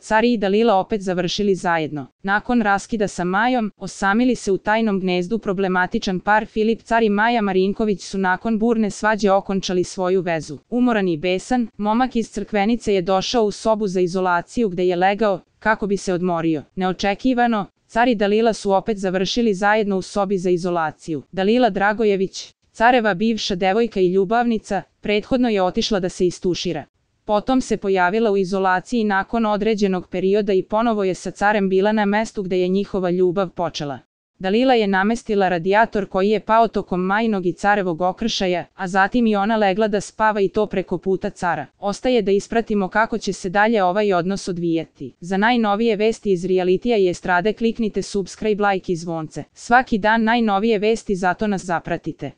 car i Dalila opet završili zajedno. Nakon raskida sa Majom, osamili se u tajnom gnezdu problematičan par Filip Car i Maja Marinković su nakon burne svađe okončali svoju vezu. Umoran i besan, momak iz Crkvenice je došao u sobu za izolaciju gde je legao, kako bi se odmorio. Neočekivano, car i Dalila su opet završili zajedno u sobi za izolaciju. Dalila Dragojević, careva bivša devojka i ljubavnica, prethodno je otišla da se istušira. Potom se pojavila u izolaciji nakon određenog perioda i ponovo je sa carem bila na mestu gde je njihova ljubav počela. Dalila je namestila radijator koji je pao tokom Majinog i carevog okršaja, a zatim i ona legla da spava i to preko puta cara. Ostaje da ispratimo kako će se dalje ovaj odnos odvijati. Za najnovije vesti iz realitija i estrade kliknite subscribe, like i zvonce. Svaki dan najnovije vesti, zato nas zapratite.